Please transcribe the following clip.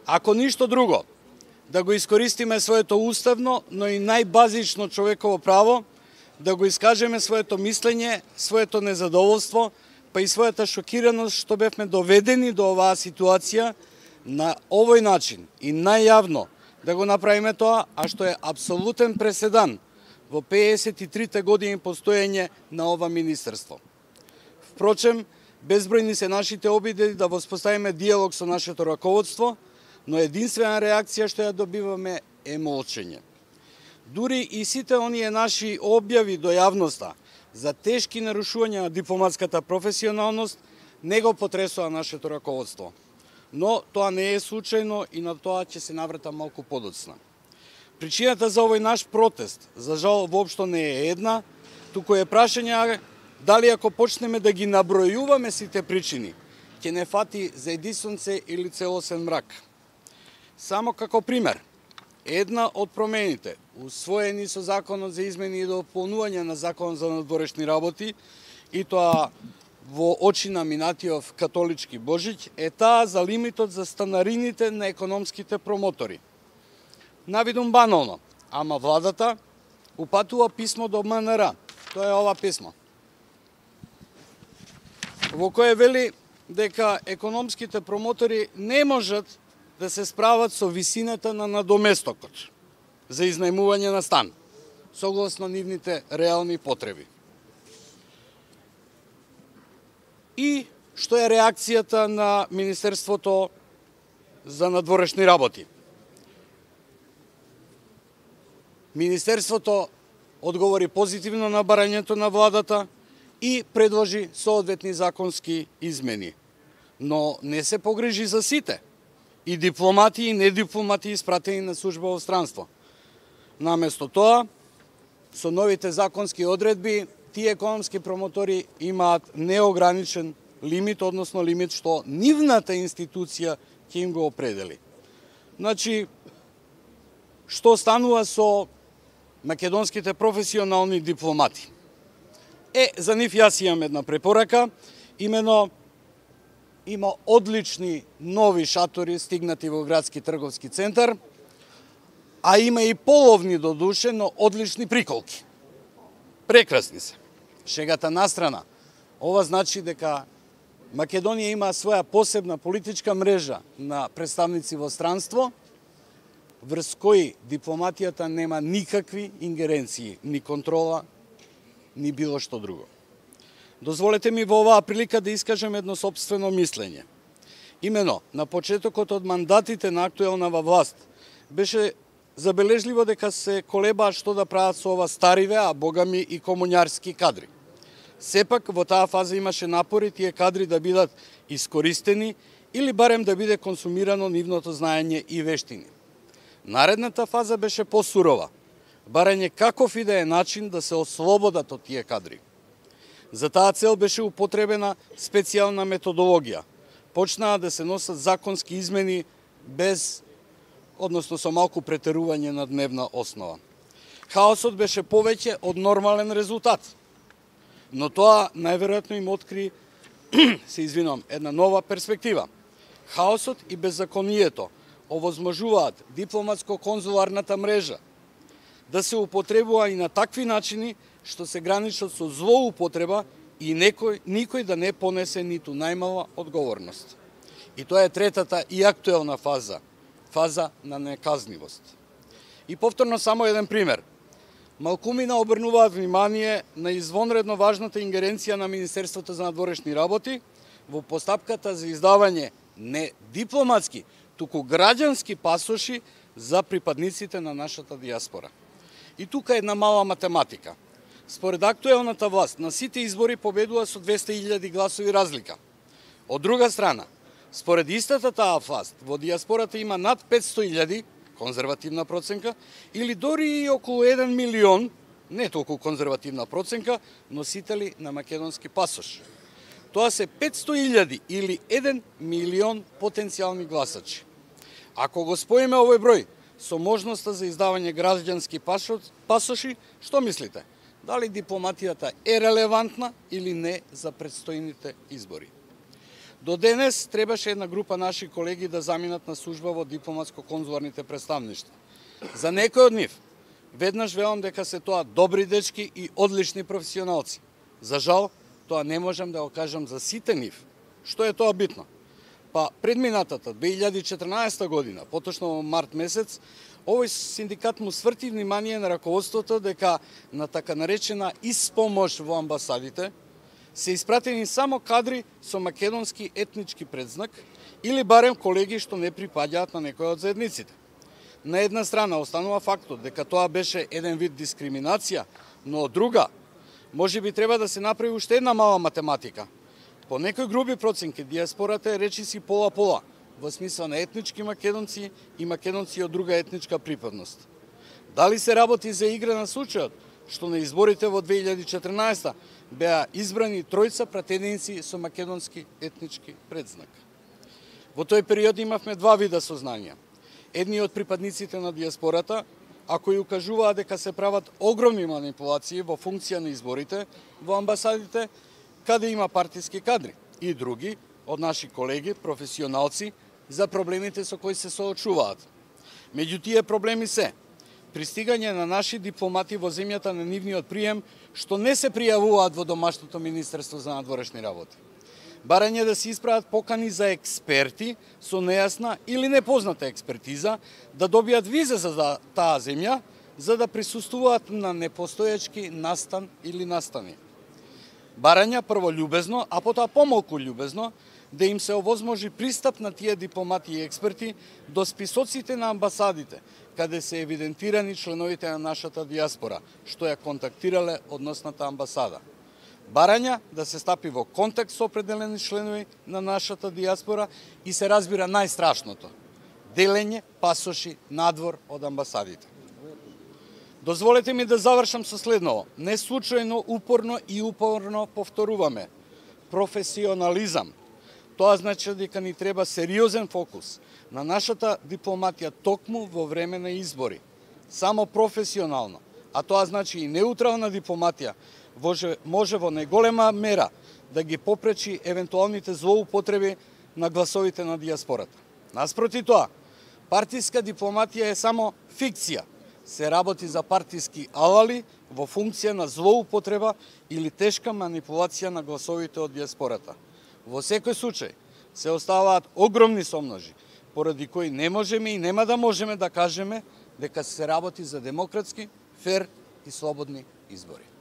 Ако ништо друго, да го искористиме своето уставно, но и најбазично човеково право, да го искажеме своето мислење, своето незадоволство, па и својата шокираност што бевме доведени до оваа ситуација на овој начин и најјавно да го направиме тоа, а што е апсолутен преседан во 53 години постоење на ова министерство. Впрочем, безбројни се нашите обиди да воспоставиме диалог со нашето раководство, но единствена реакција што ја добиваме е молчење. Дури и сите оние наши објави до јавноста за тешки нарушувања на дипломатската професионалност не го потресува нашето раководство. Но тоа не е случајно и на тоа ќе се навратам малку подоцна. Причината за овој наш протест, за жал, воопшто не е една, туку е прашање дали ако почнеме да ги набројуваме сите причини, ќе не фати за едни сонце или целосен мрак. Само како пример, една од промените, усвоени со Законот за измени и дополнување на Законот за надворешни работи, и тоа во очи на минатиот католички Божиќ, е таа за лимитот за станарините на економските промотори. Навидум банално, ама владата упатува писмо до МНР, тоа е ова писмо, во кое вели дека економските промотори не можат да се справат со висината на надоместокот за изнајмување на стан, согласно нивните реални потреби. И што е реакцијата на Министерството за надворешни работи? Министерството одговори позитивно на барањето на владата и предложи соодветни законски измени, но не се погрижи за сите, и дипломати и недипломати испратени на служба во странство. Наместо тоа, со новите законски одредби, тие економски промотори имаат неограничен лимит, односно лимит што нивната институција ќе им го определи. Значи, што станува со македонските професионални дипломати? За нив јас имам една препорака, имено има одлични нови шатори стигнати во градски трговски центар, а има и половни до душе, но одлични приколки. Прекрасни се. Шегата настрана, ова значи дека Македонија има своја посебна политичка мрежа на представници во странство, врз кои дипломатијата нема никакви ингеренции, ни контрола, ни било што друго. Дозволете ми во оваа прилика да искажем едно сопствено мислење. Имено, на почетокот од мандатите на актуелнава власт беше забележливо дека се колебаат што да прават со ова стариве, а богами и комуњарски кадри. Сепак, во таа фаза имаше напори тие кадри да бидат искористени или барем да биде консумирано нивното знаење и вештини. Наредната фаза беше посурова, барање каков и да е начин да се ослободат од тие кадри. За таа цел беше употребена специјална методологија. Почнаа да се носат законски измени без, односно со малку претерување на дневна основа. Хаосот беше повеќе од нормален резултат, но тоа најверојатно им откри, една нова перспектива. Хаосот и беззаконието овозможуваат дипломатско-конзуларната мрежа да се употребува и на такви начини што се граничат со злоупотреба и никој да не понесе ниту најмала одговорност. И тоа е третата и актуелна фаза на неказнивост. И повторно само еден пример. Малкумина обрнуваат внимание на извонредно важната ингеренција на Министерството за надворешни работи во постапката за издавање не дипломатски, туку граѓански пасоши за припадниците на нашата диаспора. И тука една мала математика. Според актуелната власт, на сите избори победува со 200.000 гласови разлика. Од друга страна, според истата таа власт, во диаспората има над 500.000, конзервативна проценка, или дори и околу 1 милион, не толку конзервативна проценка, носители на македонски пасош. Тоа се 500.000 или 1 милион потенцијални гласачи. Ако го споиме овој број со можноста за издавање граѓански пасоши, што мислите? Дали дипломатијата е релевантна или не за предстојните избори? До денес требаше една група наши колеги да заминат на служба во дипломатско-конзуларните представништва. За некој од нив, веднаш велам дека се тоа добри дечки и одлични професионалци. За жал, тоа не можам да го кажам за сите нив. Што е тоа битно? Па предминатата 2014 година, поточно во март месец, овој синдикат му сврти внимание на раководството дека на така наречена испомош во амбасадите се испратени само кадри со македонски етнички предзнак или барем колеги што не припаѓаат на некој од заедниците. На една страна останува фактот дека тоа беше еден вид дискриминација, но од друга, може би треба да се направи уште една мала математика. По некои груби проценки, диаспората е речиси пола-пола, во смисла на етнички македонци и македонци од друга етничка припадност. Дали се работи за игра на случајот, што на изборите во 2014 беа избрани тројца пратеници со македонски етнички предзнак. Во тој период имавме два вида сознанија. Едни од припадниците на диаспората, ако и укажуваа дека се прават огромни манипулации во функција на изборите во амбасадите, каде има партиски кадри, и други од наши колеги, професионалци, за проблемите со кои се соочуваат. Меѓу тие проблеми се пристигање на наши дипломати во земјата на нивниот прием, што не се пријавуваат во домашното Министерство за надворешни работи. Барање да се исправат покани за експерти со нејасна или непозната експертиза да добијат виза за таа земја, за да присуствуваат на непостоечки настан или настани. Барања прво љубезно, а потоа помалку љубезно, да им се овозможи пристап на тие дипломати и експерти до списоците на амбасадите, каде се евидентирани членовите на нашата диаспора, што ја контактирале односната амбасада. Барања да се стапи во контакт со определени членови на нашата диаспора и се разбира најстрашното – делење пасоши надвор од амбасадите. Дозволете ми да завршам со следново. Не случајно, упорно и упорно повторуваме. Професионализам. Тоа значи дека ни треба сериозен фокус на нашата дипломатија токму во време на избори. Само професионално, а тоа значи и неутрална дипломатија, може во најголема мера да ги попречи евентуалните злоупотреби на гласовите на диаспората. Наспроти тоа, партиска дипломатија е само фикција. Се работи за партиски алали во функција на злоупотреба или тешка манипулација на гласовите од диаспората. Во секој случај се оставаат огромни сомножи, поради кои не можеме и нема да можеме да кажеме дека се работи за демократски, фер и слободни избори.